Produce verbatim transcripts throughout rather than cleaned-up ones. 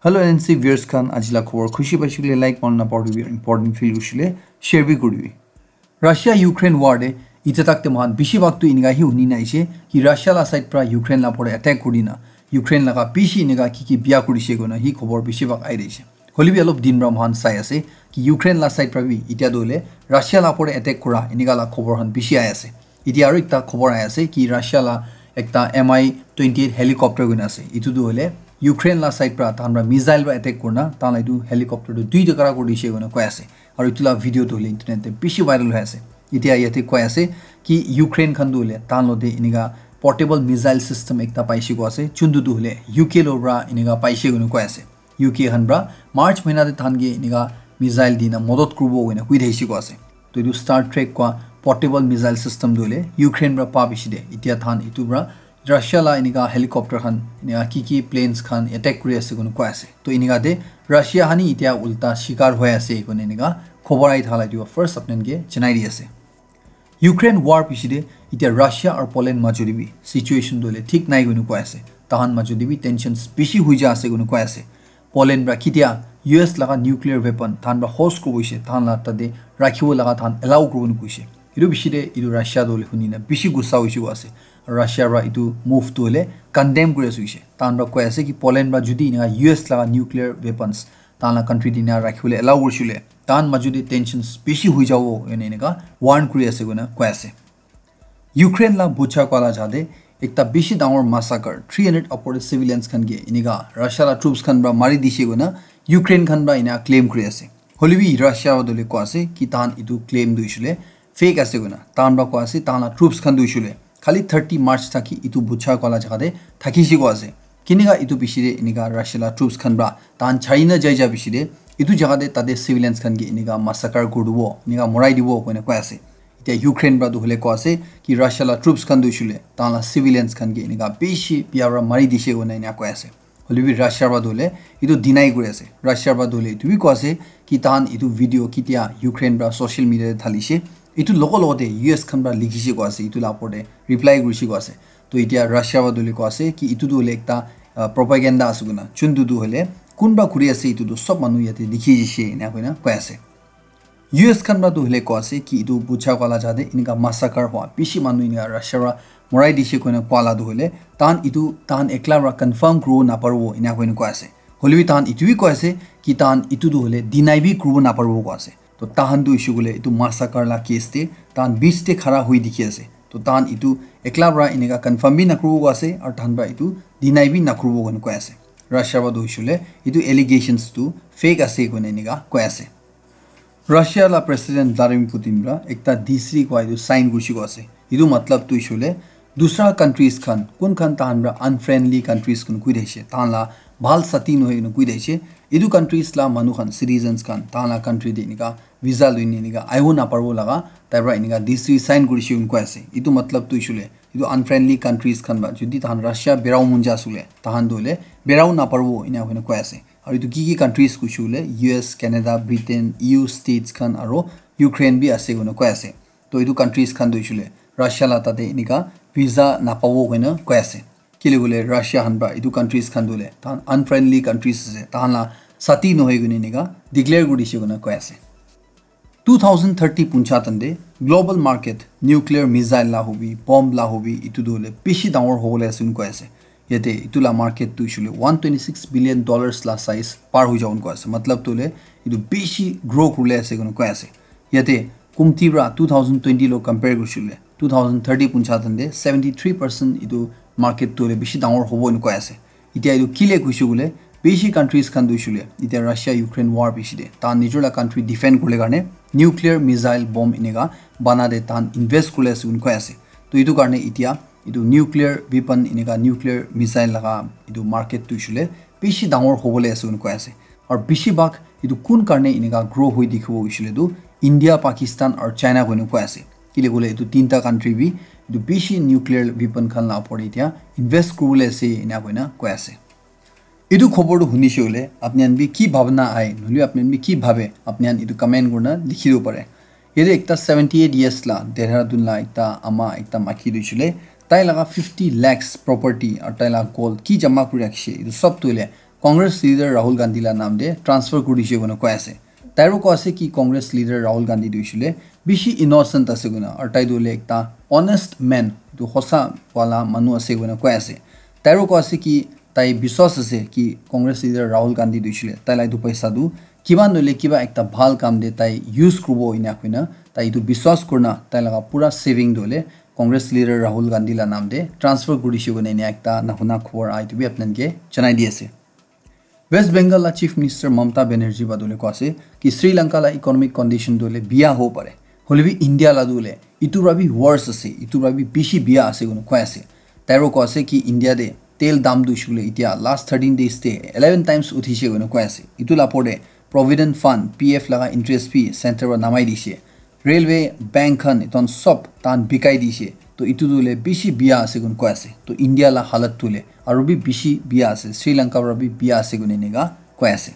Hello N C viewers khan, aji la khobor khushi paishe koile like, mon na pauribi, important feel kurishe koile share bi kuribi. Russia Ukraine war de ite tak te mohan bishi bhag tu enika hi huni na aise ki Russia la side pra Ukraine la pore attack kuri na Ukraine laga bishi enika ki ki biya kurishe koina hi khobor bishi bhag ai aise. Hoile bi olop din pra mohan sai ase ki Ukraine la side pra bi itya tu hole Russia la pore attack kura enika la khobor khan bishi ai ase. Itya aru ekta khobor ai ase ki Russia la ekta M I twenty-eight helicopter koina ase. Itu tu hole Ukraine la side pra tahan pra missile pra attack kurna tahan la itu helicopter tu duita kara kuri dishe koina koi ase. Aru itu la video tu hole internet te bishi viral hoi ase. Itya yate koi ase ki Ukraine khan tu hole tahan lo te enika portable missile system ekta paishe ko ase. Chuntu tu hole U K lo pra enika paishe koina koi ase. U K khan pra March mahina te tahan ke enika missile dina modot kuribo koina kui thaishe ko ase. To itu Star Trek kwa portable missile system tu hole Ukraine pra pa bishi de. Itya tahan itu pra Russia la enika helicopter khan enika ki ki planes khan attack kuri ase koina koi ase. To enika de Russia hani itya ulta shikar hoi ase koina enika khobor ai thala itu first apnan ke janai di ase. Ukraine war piche de itya Russia aru Poland majo de bi situation tu hole thik nai koina koi ase. Tahan majo de bi tensions bishi hui ja ase koina koi ase. Poland pra kitia U S laga nuclear weapon tahan pra host kuribo hoise, tahan la tate rakhibo laga tahan allow kuribo nukhoise. Itu bishi de itu Russia tu hole huni na bishi gussa hoise ko ase. Russia pra itu move tu hole condemn kuri ase hoise. Tahan pra koi ase ki Poland pra judi enika U S laga nuclear weapons tahan la country dina rakhibole allow kurishe koile tahan majo de tensions bishi hui jabo ene enika warn kuri ase koina koi ase. Ukraine la Bucha koa la jate ekta bishi dangor massacre, three hundred upward civilians khan ke enika Russia la troops khan pra mari dishe koina Ukraine khan pra ena claim kuri ase. Hoile bi Russia wa dole ko ase ki tahan itu claim tu hoishe koile fake ase koina. Tahan pra ko ase tahan la troops khan tu hoishe koile khali thirty March thaki itu Bucha koa la jaga te thakishe ko ase. Kinika itu bishi de enika Russia la troops khan pra tahan chari na jai ja bishi de itu jaga te tate civilians khan ke enika massacre kuri dibo, enika morai dibo koina koi ase. Itya Ukraine pra tu hole ko ase ki Russia la troops khan tu hoishe koile tahan la civilians khan ke enika bishi biya pra mari dishe koina ena koi ase. Hoile bi Russia pra tu hole itu deny kuri ase. Russia pra tu hole itu bi ko ase ki tahan itu video kitia Ukraine pra social media te dhalishe. Itu logo logo te U S khan pra likhishe ko ase. Itu la opor te reply kurishe ko ase. To itya Russia pra tu hole ko ase ki itu tu hole ekta, ah, propaganda ase koina. Chuntu tu hole kunba kuri ase itu tu sob manu yate dikhi jishe ena koina koi ase. U S khan pra tu hole ko ase ki itu Bucha koa la jaga te enika massacre hua bishi manu enika Russia pra morai dishe koina koa la tu hole tahan itu tahan ekla pra confirm kuribo naparibo ena koina koi ase. Hoile bi tahan itu bi koi ase ki tahan itu tu hole deny bi kuribo naparibo koi ase. To tahan tu hoishe koile itu massacre la case te tahan beach te khara hui dikhi ase. To tahan itu ekla pra enika confirm bi nakuribo koi ase aru tahan pra itu deny bi nakuribo koina koi ase. Russia pra tu hoishe koile itu allegations tu fake ase koina enika koi ase. Russia la President Vladimir Putin pra ekta decree koi itu sign kurishe ko ase. Itu matlab tu hoishe koile dusra countries khan kun khan tahan pra unfriendly countries khan kui thaishe, tahan la bhal sati nohoi kena kui thaishe, itu countries la manu khan, citizens khan tahan la country te enika visa loi ne enika aibo naparibo laga tai pra enika decree sign kurishe koina koi ase. Itu matlab tu hoishe koile itu unfriendly countries khan pra judi tahan Russia berabo mon ja ase koile tahan tu hole berabo naparibo ena koina koi ase. Aru itu ki ki countries kuishe koile U S, Canada, Britain, E U states khan aru Ukraine bi ase koina koi ase. To itu countries khan tu hoishe koile Russia la tate enika visa napabo koina koi ase. Kile koile Russia khan pra itu countries khan tu hole tahan unfriendly countries ase, tahan la sati nohoi koina enika declare kuri dishe koina koi ase. Two thousand thirty puncha tande global market nuclear missile la hobi, bomb la hobi, itu tu hole bishi dangor hobole ase koina koi ase. Yate itu la market tu hoishe koile one twenty six billion dollars la size par hoi jabo koina koi ase. Matlab tu hole itu bishi grow kuribole ase koina koi ase. Yate kumti pra two thousand twenty lo compare kurishe koile two thousand thirty puncha tande seventy three percent itu market tu hole bishi dangor hobo koina koi ase. Itya itu kile kuishe koile bishi countries khan tu hoishe koile itya Russia Ukraine war bishi de tahan nijor la country defend kuribole karne nuclear missile bomb enika bana de tahan invest kuribole ase koina koi ase. To itu karne itya itu nuclear weapon enika nuclear missile laga itu market tu hoishe koile bishi dangor hobole ase koina koi ase. Aru bishi bhag itu kun karne enika grow hoi dikhibo hoishe koile tu India, Pakistan aru China koina koi ase. Kile koile itu tinta country bi itu bishi nuclear weapon khan la opor te itya invest kuribole ase ena koina koi ase. Itu khobor tu hunishe koile apni khan bi ki bhabna ahe, nohole apni khan bi ki bhabe, apni khan itu comment kurina likhi dibo pare. Yate ekta seventy eight years la Dehradun la ekta ama ekta maiki tu hoishe koile tai laga fifty lakhs property aru tai laga gold ki jama kuri rakhishe itu sob tu hole Congress leader Rahul Gandhi la naam te transfer kuri dishe koina koi ase. Tairo koi ase ki Congress leader Rahul Gandhi tu hoishile bishi innocent ase koina, aru tai tu hoile ekta honest man, tu hosa wala manu ase koina koi ase. Tairo koi ase ki tai biswas ase ki Congress leader Rahul Gandhi tu hoishile tai la etu paisa tu kiba nohoile kiba ekta bhal kam te tai use kuribo ena koina tai etu biswas kurina tai laga pura saving tu hoile Congress leader Rahul Gandhi la naam te transfer kuri dishe koina ena ekta nahuna khobor aha etu bi apni khan ke janai di ase. West Bengal la Chief Minister Mamata Banerjee ba tu hoile koi ase ki Sri Lanka la economic condition tu hoile biya hobo pare, hoile bi India la tu hoile etu para bi worse ase, etu para bi bishi biya ase koina koi ase. Tairo koi ase ki India te tel dam tu hoishile etia last thirteen days te eleven times uthi dishe koina koi ase. Etu la opor te Provident Fund, P F laga interest bi center para namai dishe. Railway, bank khan etu khan sob tahan bikai dishe. To etu tu hoile bishi biya ase koina koi ase. To India la halat tu hoile aru bi bishi biya ase. Sri Lanka para bi biya ase koina enika koi ase.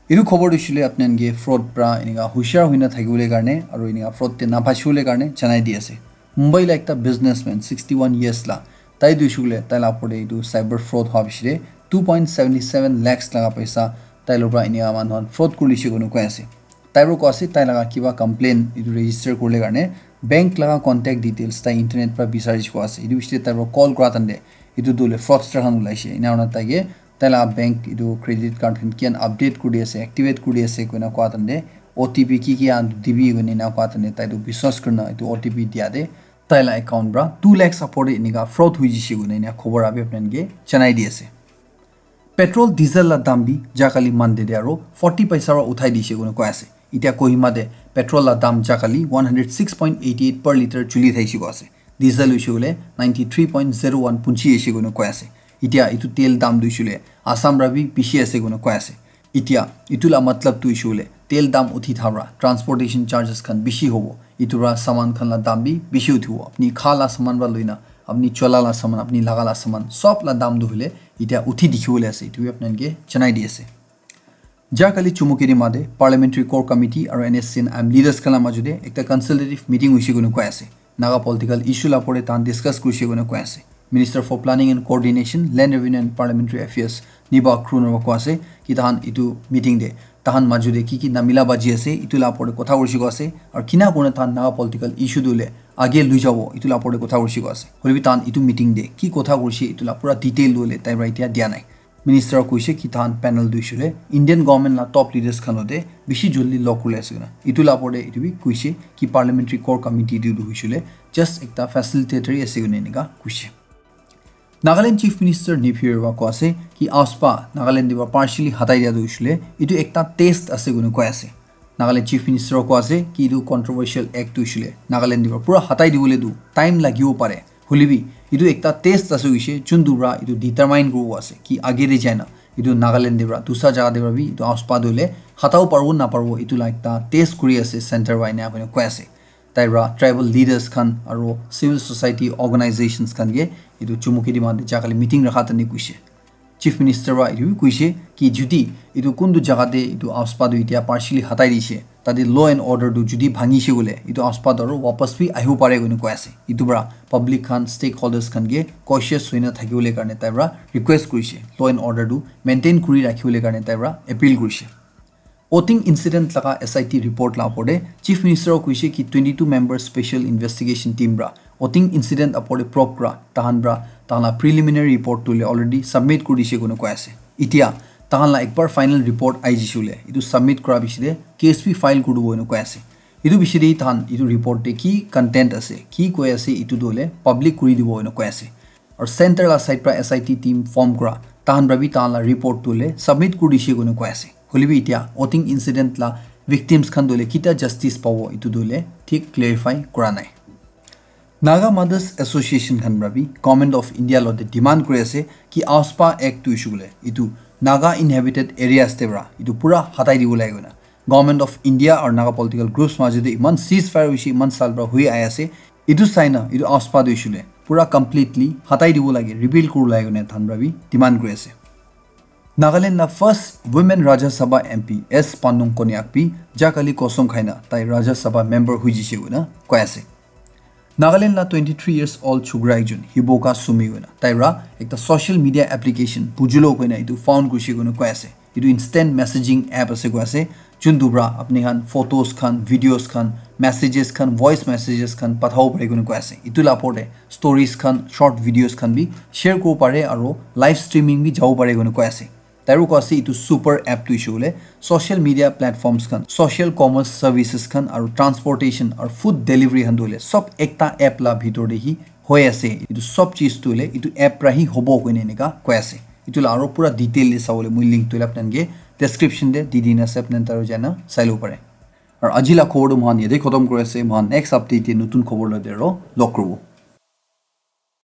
Etu khobor tu hoishile apni khan ke fraud para enika hushiar hoina thakibole karne aru enika fraud te naphasibole karne janai di ase. Mumbai la ekta businessman sixty one years la, tai tu hoishile tai la opor te etu cyber fraud howa piche te two point seventy seven lakhs laga paisa tai logot para enika manu khan fraud kuri dishe koina koi ase. Tai para koi ase tai laga kiba complaint etu register kuribole karne bank laga contact details tai internet para bisari dishe koi ase. Etu piche te tai para call kura time te etu tu hoile fraudster khan ulai she. Ena hoina tai ke tai laga bank etu credit card khan kian update kuri ase, activate kuri ase koina koi time te O T P ki ki an dibi koina ena koi time te tai tu biswas kurina etu O T P dia te tai la account para two lakhs opor te enika fraud hoi jishe koina ena khobor abi apni khan ke janai di ase. Petrol, diesel la dam bi jahkali Monday te aro forty paisa para uthai dishe koina koi ase. Etia Kohima te petrol la dam jahkali one hundred six point eighty eight per litre chuli thaishe koi ase. Diesel hoishe koile ninety three point zero one punchi aishe koina koi ase. Etia etu tel dam tu hoishe koile Assam para bi bishi ase koina koi ase. Etia etu la matlab tu hoishe koile tel dam uthi thaka para transportation charges khan bishi hobo. Etu para saman khan la dam bi bishi uthibo. Apni kha la saman para loina apni chola la saman, apni laga la saman, sob la dam tu hoile etia uthi dikhi bole ase. Etu bi apni khan ke janai di ase. Jahkali Chumukiri ma te Parliamentary Core Committee aro N S C N M leaders khan la majo te ekta consultative meeting hoishe koina koi ase. Naga political issue la opor te tahan discuss kurishe koina koi ase. Minister for Planning and Coordination, Land Revenue and Parliamentary Affairs, Niba Kruner koi ase ki tahan etu meeting te tahan majo te ki ki namila baji ase, etu la opor te kotha kurishe koi ase, aro kina kurina tahan Naga political issue tu hoile age lui jabo, etu la opor te kotha kurishe koi ase. Hoile bi tahan etu meeting te ki kotha kurishe, etu la pura detail tu hoile tai para etia dia nai. Minister koishe ki tahan panel tu hoishe koile Indian government la top leaders khan logote bishi jaldi log kuribole ase koina. Etu la opor te etu bi koishe ki Parliamentary Core Committee tu hoishe koile just ekta facilitatory ase koina enika koishe. Nagaland Chief Minister Neiphiu Rio koi ase ki AFSPA Nagaland te para partially hatai dia tu hoishe koile etu ekta test ase koina koi ase. Nagaland Chief Minister koi ase ki etu controversial act tu hoishe koile Nagaland te para pura hatai dibole tu time lagibo pare. Hoile bi etu ekta test ase koishe, jun tu para etu determine kuribo ase ki age te jai na etu Nagaland te para dusra jaga te para bi etu AFSPA tu hoile hatabo paribo na paribo, etu la ekta test kuri ase center para ena koina koi ase. Tai para tribal leaders khan aro civil society organizations khan ke etu Chumukiri ma te jahkali meeting rakha time te koishe. Chief Minister para etu bi koishe ki jodi etu kuntu jaga te etu AFSPA tu etia partially hatai dishe, tate law and order tu jodi bhangishe koile etu AFSPA tu aro wapas bi ahibo pare koina koi ase. Etu para public khan, stakeholders khan ke cautious hoina thakibole karne tai para request kurishe. Law and order tu maintain kuri rakhibole karne tai para appeal kurishe. Oting incident laga S I T report la opor te Chief Minister koishe ki twenty two member special investigation team para Oting incident opor te probe kura tahan para tahan la preliminary report tu hoile already submit kuri dishe koina koi ase. Etia tahan la ekbar final report ahi jishe koile etu submit kura piche te case bi file kuri dibo koina koi ase. Etu piche te tahan etu report te ki content ase, ki koi ase, etu tu hoile public kuri dibo koina koi ase. Aru center la side para S I T team form kura tahan para bi tahan la report tu hoile submit kuri dishe koina koi ase. Hoile bi etia Oting incident la victims khan tu hoile kitia justice pabo etu tu hoile thik clarify kura nai. Naga Mothers Association khan para bi Government of India logote demand kuri ase ki AFSPA Act tu hoishe koile etu Naga inhabited areas te para etu pura hatai dibo lage koina. Government of India aru Naga political groups majo te iman ceasefire hoishe, iman saal para hoi ahi ase. Etu sai na etu AFSPA tu hoishe koile pura completely hatai dibo lage, repeal kuribo lage koina tahan para bi demand kuri ase. Nagaland la first women Rajya Sabha M P S Pannung Konyak bi jahkali kosong khai na tai Rajya Sabha member hoi jishe koina koi ase. Nagaland la twenty-three years old chukra ekjon Hiboka Sumi koina tai ra ekta social media application Bujulo koina etu found kurise koina koi ase. Etu instant messaging app ase koi ase, juntu pra apni khan photos khan, videos khan, messages khan, voice messages khan pathabo pare koina koi ase. Etu la opor te stories khan, short videos khan bi share kuribo pare aro live streaming bi jabo pare koina koi ase. Tairu koi ase etu super app tu hoishe koile social media platforms khan, social commerce services khan aro transportation aro food delivery khan tu hoile sob ekta app la bhitor te hi hoi ase. Etu sob cheez tu hoile etu app pra hi hobo koina enika koi ase. Etu la aro pura detail te sabole moi link tu hoile apni khan ke description te di dina ase, apni khan taru jaina sai lobo pare. Aro aji la khobor tu moikhan yate khotom kuri ase, moikhan next update te notun khobor loi te aro log kuribo.